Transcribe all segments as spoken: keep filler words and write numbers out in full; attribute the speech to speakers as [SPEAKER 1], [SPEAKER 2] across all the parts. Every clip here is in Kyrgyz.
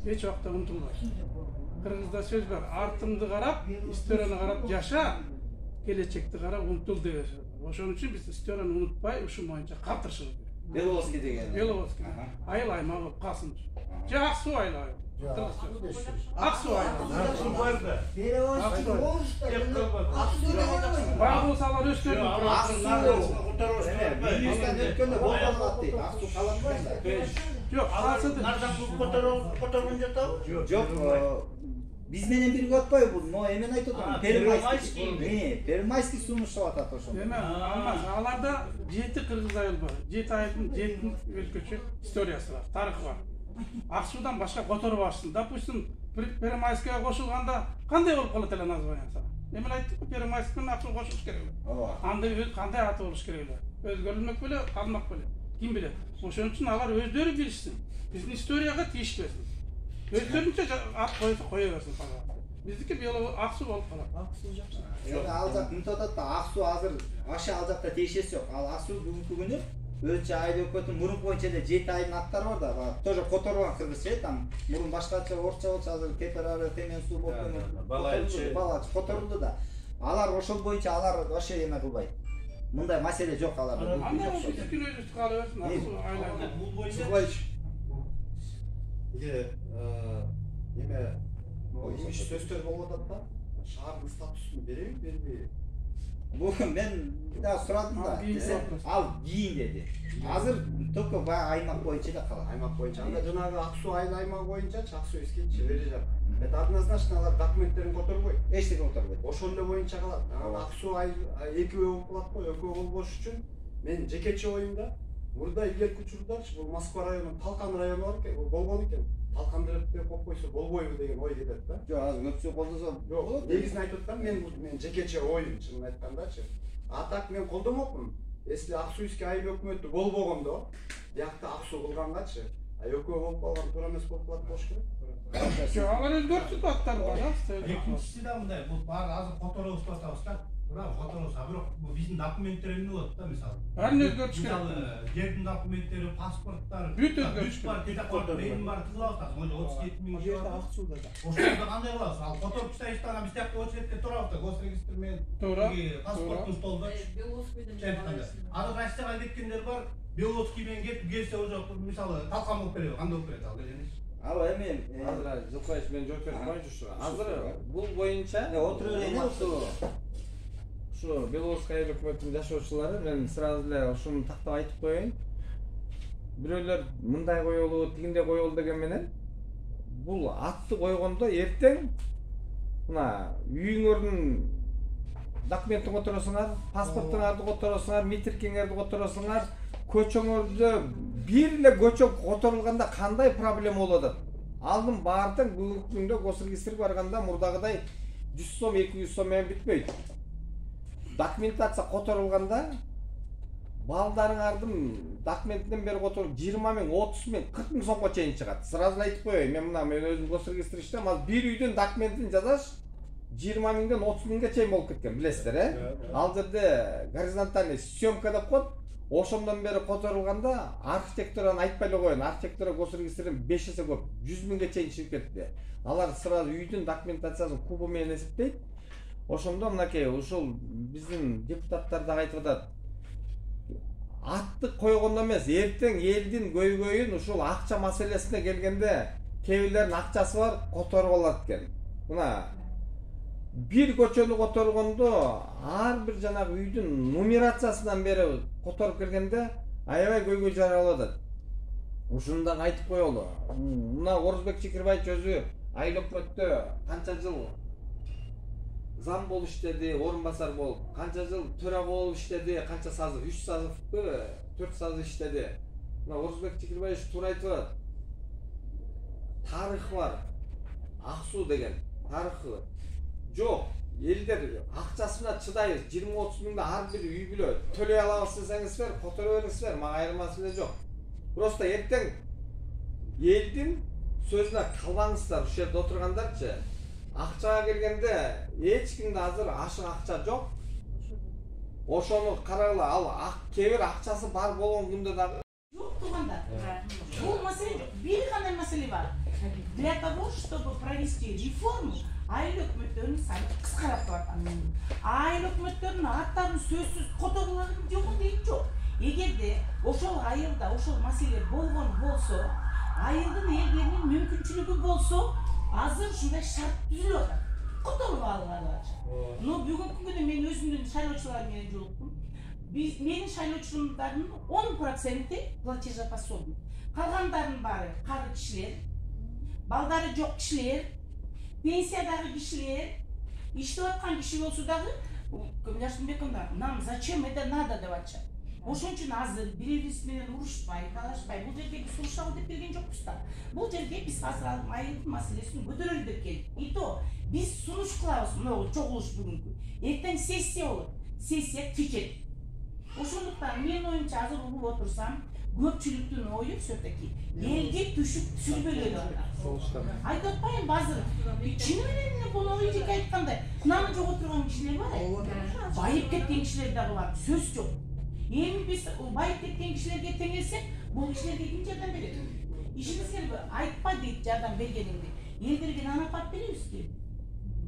[SPEAKER 1] эч убакта унутулбайт. Кыргызда сөз бар, артыңды карап, историяны карап жаша, келечекти карап унутул деген сөз. Ошон үчүн биз историяны унутпай, ушул боюнча калтырышыбыз керек.
[SPEAKER 2] Беловский деген.
[SPEAKER 1] Беловский. Айыл аймагы болуп калсын. Же ак суу айлабы. Ак суу айлабы.
[SPEAKER 3] Аксу бар да.
[SPEAKER 1] Беловский.
[SPEAKER 3] Аксу деген.
[SPEAKER 1] Баа болсо алар өздөрүнүн
[SPEAKER 2] Министрден өткөндө болболот дейт. Аксу калат да.
[SPEAKER 1] жок, калса
[SPEAKER 3] Нардан которгон жатабы?
[SPEAKER 2] Жок, биз менен бирге отпойбу бул. Но эмен айтып атам.
[SPEAKER 3] Первомайский.
[SPEAKER 2] Э, Первомайский сунуштап атат ошондо.
[SPEAKER 1] эме алмаз. Аларда жети кыргыз айыл бар. жети айылдын жети өзгөчө историясы бар, тарыхы бар. Ак суудан башка которуп алышсын. Допустим, Первомайскийге кошулганда кандай болуп калат эле названиясы? Эмен айттык, Первомайский менен ак суу кошулуш керек эле.
[SPEAKER 2] Ооба.
[SPEAKER 1] Анда кандай аты болуш керек эле? Өзгөрүлмөк беле, калмак беле? Ким билет? Ошон үчүн алар өздөрү билишсин. Биздин историяга тийишпесин. Өздөрүнчө ат койсо кое берсин пожалуйста. Биздики бело ак суу болуп калат. Ак суу жакшы.
[SPEAKER 2] Жок, ал жак мынтип атат да, ак суу азыр аша ал жакта тиешеси жок. Ал ак суу бүгүнкү күнү өзүнчө айыл өкмөтүнүн мурун боюнча эле жети айылдын аттары бар да, тоже которулган кыргызча, там мурун башкача орусча болчу, азыр кеперары, темен суу болуп кеткен.
[SPEAKER 3] Балайчы.
[SPEAKER 2] Балайчы которулду да. Алар ошол боюнча алар вообще эме кылбайт. Мындай маселе жок аларда.
[SPEAKER 1] Анда биздики өзүбүз кала берсин, ак суу айланып.
[SPEAKER 3] Бул боюнча
[SPEAKER 4] Сыглайчы. Эге эме имиш сөздөр болуп атат да. Шаардын статусун береби, бербейби?
[SPEAKER 2] Бул мен да сурадым да. Ал кийин деди. Азыр только аймак боюнча эле калат.
[SPEAKER 4] Аймак боюнча. Анда жанагы ак суу айыл аймагы боюнча Аксуйский чебери жак. Это однозначно алар документтерин которбойт.
[SPEAKER 2] Эчтеке которбойт.
[SPEAKER 4] Ошол эле боюнча калат. Ак суу айыл экөө болуп калат го, экөө болбош үчүн мен жекече оюмда мурда илгерки учурдачы бул Москва районунун Талкан району бар экен, болгон экен. Талкандырып деп коюп койсо болбойбу деген ой келет да.
[SPEAKER 2] Жок, азыр көпчүлүк колдосо
[SPEAKER 4] Жок, негизин айтып атам, мен мен жекече оюм, чынын айткандачы. А так мен колдомокмун. Если Аксуйский айыл өкмөтү болбогондо, биякта ак суу кылгангачы, а экөө болуп калган туура эмес болуп калат болуш керек.
[SPEAKER 1] Жок, алар өзгөртүп аттар бар, а?
[SPEAKER 5] Экинчиси да мындай, бул баары азыр которобуз деп атабыз да. Бирок которобуз, а бирок бул биздин документтер эмне болот да, мисалы.
[SPEAKER 1] Баарын өзгөртүш керек.
[SPEAKER 5] Мисалы, жердин документтери, паспорттар,
[SPEAKER 1] бүт өзгөртүш
[SPEAKER 5] бар, кетип менин бар кылабыз да, могу отуз жети миң жерде ак сууда да. Ошондо кандай кылабыз? Ал которуп тастайбыз да, биз тиякта очередке турабыз да, госрегистр менен.
[SPEAKER 1] Туура.
[SPEAKER 5] Паспортун столдочу. Аны Россияга кеткендер бар, Беловский менен кетип келсе уже мисалы талкан болуп келеби, кандай болуп келет ал дегениш.
[SPEAKER 2] Ал эми
[SPEAKER 6] азыр Жылкаевич мен жооп берип коеюнчу ушу. Азыр бул боюнча
[SPEAKER 2] отуруп эле
[SPEAKER 6] ушу Беловский айыл өкмөтүнүн жашоочулары, мен сразу эле ушуну тактап айтып коеюн. Бирөөлөр мындай коелу, тигиндей коелу деген менен бул атты койгондо эртең мына үйүңөрдүн документин которосуңар, паспортуңарды которосуңар, митркиңерди которосуңар, көчөңөрдө бир эле көчө которулганда кандай проблема болуп атат? Алдын баардык бүгүнкү күндө госрегистрге барганда мурдагыдай жүз сом, эки жүз сом менен бүтпөйт. Документация которулганда балдарыңардын документинен бери которуп жыйырма миң, отуз миң, кырк миң сомго чейин чыгат. Сразу эле айтып коеюн, мен мына мен өзүм госрегистр иштейм, ал бир үйдүн документин жазаш жыйырма миңден отуз миңге чейин болуп кеткен, билесиздер, э? Ал жерде горизонтальный съемка деп коет. Ошондон бери которулганда архитектураны айтпай эле коеюн. Архитектура госрегистрден беш эсе көп, жүз миңге чейин чыгып кетти. Алар сразу үйдүн документациясын кубу менен эсептейт. Ошондо мынакей ушул биздин депутаттар да айтып атат. Атты койгондо эмес, эртең элдин көйгөйүн ушул акча маселесине келгенде кээ бирлердин акчасы бар, которуп алат экен. Мына бир көчөнү которгондо ар бир жанагы үйдүн нумерациясынан бери которуп келгенде аябай көйгөй жаралып атат. Ушуну да айтып коелу. Мына Орузбек Чекирбаевич өзү айыл өкмөттө канча жыл зам болуп иштеди, орун басар болуп, канча жыл төрага болуп иштеди, канча сазы, үч сазывпы, төрт сазы иштеди. Мына Орузбек Чекирбаевич туура айтып атат. Тарыхы бар. Ак суу деген тарыхы жок. Элдер акчасы менен чыдайбыз. жыйырма отуз миңде ар бир үй бүлө төлөй алабыз десеңиздер, которо бериңиздер, мага айырмасы эле жок. Просто эртең элдин сөзүнө калбаңыздар, ушул жерде отургандарчы. Акчага келгенде эч кимде азыр ашык акча жок. Ошону карагыла, ал кээ бир акчасы бар болгон күндө дагы
[SPEAKER 7] жок турганда. Бул маселе бир гана маселе бар. Для того, чтобы провести реформу, айыл өкмөттөрүнүн саны кыскарап бараткан. Айыл өкмөттөрүнүн аттарын сөзсүз которулаган жок дейт жок. Эгерде ошол айылда ошол маселе болгон болсо, айылдын элдеринин мүмкүнчүлүгү болсо, азыр ушундай шарт түзүлүп атат. Которуп алганчы. Но бүгүнкү күндө мен өзүмдүн шайлоочуларым менен жолуктум. Биз менин шайлоочуларымдын он проценти платежеспособный. Калгандарынын баары кары кишилер, балдары жок кишилер, пенсиядагы кишилер, иштеп аткан киши болсо дагы, Кымляштынбековна, нам зачем это надо деп атышат. Ошон үчүн азыр бири-бирибиз менен урушпай, талашпай, бул жерге биз урушалы деп келген жокпуз да. Бул жерге биз азыр айылдын маселесин көтөрөлү деп келдик. И то биз сунуш кылабыз, мына чогулуш бүгүнкү. Эртең сессия болот. Сессия чечет. Ошондуктан мен оюмча азыр угуп отурсам, көпчүлүктүн ою все-таки элге түшүп сүрбөлөдү атат. Айтып атпайм азыр. Чын менен эле бул ойдук айткандай, наны жок отурган кишилер бар. Байып кеткен кишилер дагы бар. Сөз жок. Эми биз байып кеткен кишилерге теңелсек, бул кишилерге ким жардам берет? Ишенесиңерби, айтпа дейт жардам бергениңди. Элдерге нан апарып беребизби?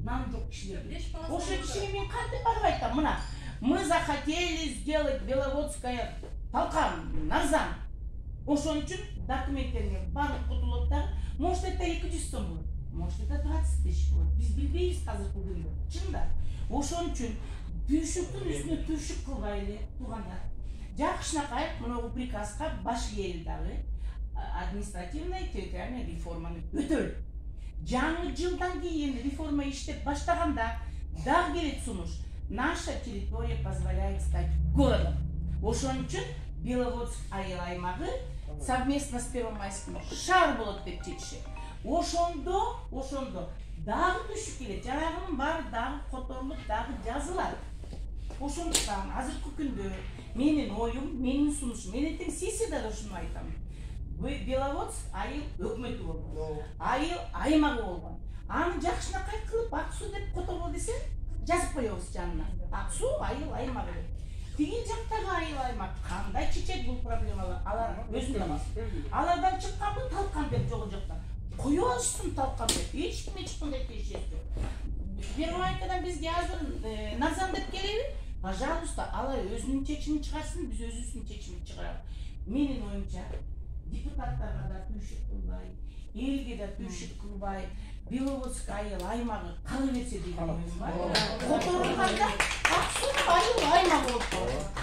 [SPEAKER 7] Нан жок кишилерге. Ошол кишиге мен кантип барып айтам, мына мы захотели сделать Беловодское толкан, нарзан. Ошон үчүн документтериңер баардык кутулот дагы. Может это эки жүз сом болот, может это двадцать тысяч болот. Биз билбейбиз азыркы күндө. Чында. Ошон үчүн түйшүктүн үстүнө түйшүк кылбайлы туугандар. Жакшынакай мына приказга баш кээли дагы административный территориальный реформаны өтөлү. Жаңы жылдан кийин реформа иштеп баштаганда дагы келет сунуш. Наша территория позволяет стать городом. Ошон үчүн Беловодск айыл аймагы совместно с Первомайским шаар болот деп чечишет. Ошондо, ошондо дагы түшүп келет. Жанагынын баары дагы которулуп, дагы жазылат. Ошондуктан азыркы күндө менин оюм, менин сунушум, мен эртең сессияда да ушуну айтам. Беловодск айыл өкмөтү болгон. Айыл аймагы болгон. Аны жакшынакай кылып Ак суу деп которбо десең, жазып коебуз жанына. Ак суу айыл аймагы деп. Тиги жактагы айыл аймак кандай чечет бул проблемалар? Алар өзүнө алат. Алардан чыкканбы талкан деп жок жактан. Кое алышсын талкан деп. Эч ким эч кандай тиешеси жок. Первомайкадан бизге азыр нарзан деп келеби? Пожалуйста, алар өзүнүн чечимин чыгарсын, биз өзүбүздүн чечимибизди чыгарабыз. Менин оюмча, депутаттарга да түйшүк кылбай, элге да түйшүк кылбай, Беловодск айыл аймагы кала берсе деген оюм бар. Которулганда Ак суу айыл аймагы болуп калат.